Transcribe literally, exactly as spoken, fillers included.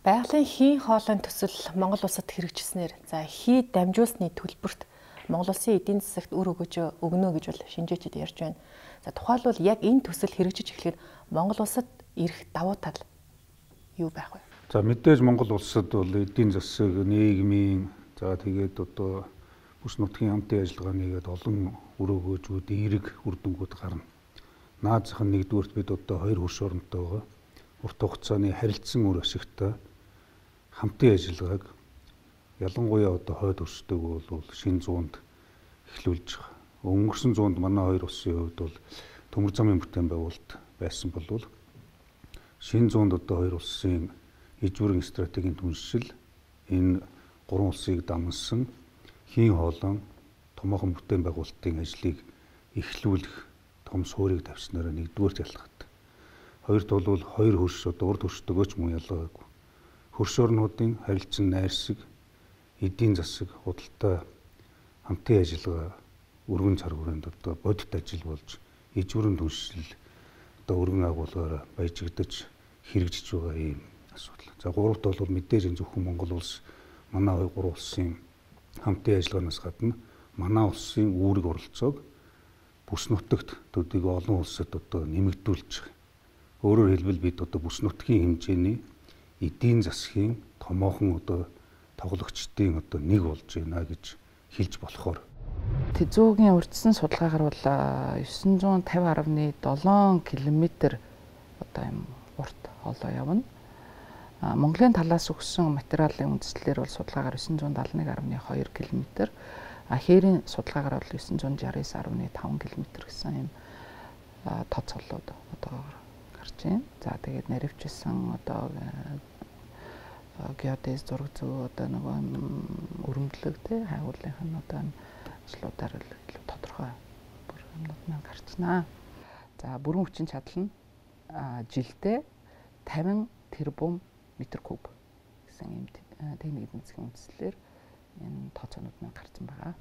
Байгалийн хийн хоолойн төсөл Монгол улсад хэрэгжснээр за хий дамжуулсны төлбөрт Монгол улсын эдийн засагт үр өгөж өгнө гэж бол шинжээчид ярьж байна. За тухайлбал яг энэ төсөл хэрэгжиж эхлэхэд Монгол улсад ирэх давуу тал юу байх вэ? За мэдээж Монгол улсад бол эдийн засаг, нийгмийн за тэгээд одоо бүс нутгийн хамтын ажиллагааныг олон үр өгөөжүүд, эерэг үр дүнгууд гарна. Наазах нь нэгдүгürt бид одоо хоёр хөрш оронтойгоо урт хугацааны харилцан үр ашигтай хамтын ажиллагааг ялангуяа одоо хойд өрсдөг бол шинэ зуунд эхлүүлж байгаа. Өнгөрсөн зуунд манай хоёр улсын хувьд бол төмөр замын бүтээн байгуулалт байсан болвол шинэ зуунд одоо хоёр улсын иж бүрэн стратегийн түншил энэ гурван улсыг дамнасан хийн хоолойн томоохон бүтээн байгуулалтын ажлыг эхлүүлэх том суурийг тавьснараа нэгдүгээр ялгахад. Хоёрт бол хоёр хөрш одоо урд хөршдөгөөч мөн ялгаагүй. Хөрш орнуудын харилцан найрсаг, эдийн засаг, худалдаа хамтын ажиллагаа өргөн цар хүрээнд одоо бодит ажил болж иж бүрэн түншил одоо өргөн агуулгаар баяжигдаж хэрэгжиж байгаа юм асуудал. За гуравт бол мэдээж энэ зөвхөн Монгол улс манай хоёр гурван улсын хамтын ажиллагаанаас гадна манай улсын үүрэг оролцоог бүс нутагт төдийгүй олон улсад одоо нэмэгдүүлж байгаа. Өөрөөр хэлбэл бид одоо бүс нутгийн хэмжээний эдийн засгийн томоохон одоо тоглогчдын одоо нэг болж байна гэж хэлж болохоор. Тэзүүгийн урьдчилан судалгаагаар бол девять five zero point seven км одоо юм урт хоолой явна. Монголын талаас өгсөн материалын үндэслэлээр бол судалгаагаар девять seventy one point two км, хээрийн судалгаагаар бол девять six nine point five км гэсэн юм тод цоллууд одоо гарч байна. За тэгээд наривчилсан одоо геодез зураг зөө одоо нөгөө өрөмдлөг тий хайгуулынх нь одоо ажлуудаар илүү тодорхой бүр юмнууд маань гарчнаа. За бүрэн хүчин чадал нь жилдээ fifty тэрбум метр куб гэсэн юм техник эдийн засгийн үндэслэлээр энэ тооцоонууд маань гарсан байгаа.